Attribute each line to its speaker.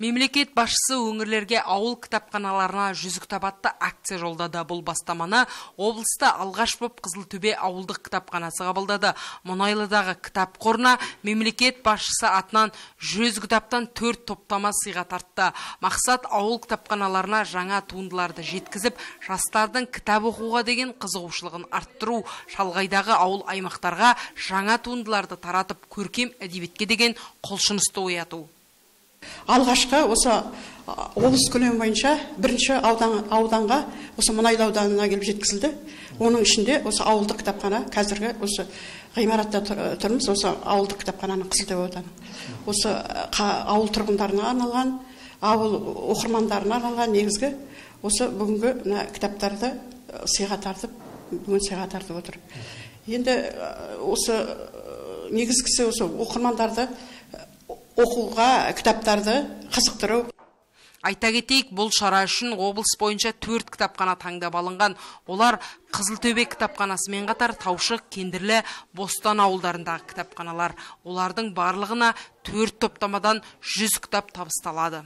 Speaker 1: Мемлекет басшысы өңірлерге ауыл кітапханаларына 100 кітап атты акция жолдады. Бұл бастаманы облыста алғаш боп Қызылтөбе ауылдық кітапханасы қабылдады. Мұнайлыдағы кітап қорына мемлекет басшысы атынан 100 кітаптан 4 топтама сыйға тартты. Мақсат ауыл кітапханаларына жаңа туындыларды жеткізіп, жастардың кітап оқуға деген қызығушылығын арттыру, шалғайдағы ауыл аймақтарға жаңа туындыларды таратып, көркем әдебиетке деген құлшынысты ояту.
Speaker 2: Алғашқы осы облыс көлемі бойынша бірінші ауданға осы Мұнайлы ауданына келіп жеткізілді. Оның ішінде осы ауылдық кітапхана, қазіргі осы ғимаратта тұрмыз, осы ауылдық кітапхананың Қызылтөбе ауданы. Осы ауыл тұрғындарына арналған, ауыл оқырмандарына арналған негізгі осы бүгінгі кітаптарды сыйға тартып отыр. Енді осы негізгісі осы оқырмандарды оқуға, кітаптарды қызықтыру.
Speaker 1: Айта кетейік, бұл шара үшін облыс бойынша 4 кітапхана таңдап алынған. Олар Қызылтөбе кітапханасымен қатар Таушық, Кендірлі, Бостан ауылдарындағы кітапханалар. Олардың барлығына 4 топтамадан 100 кітап табысталады.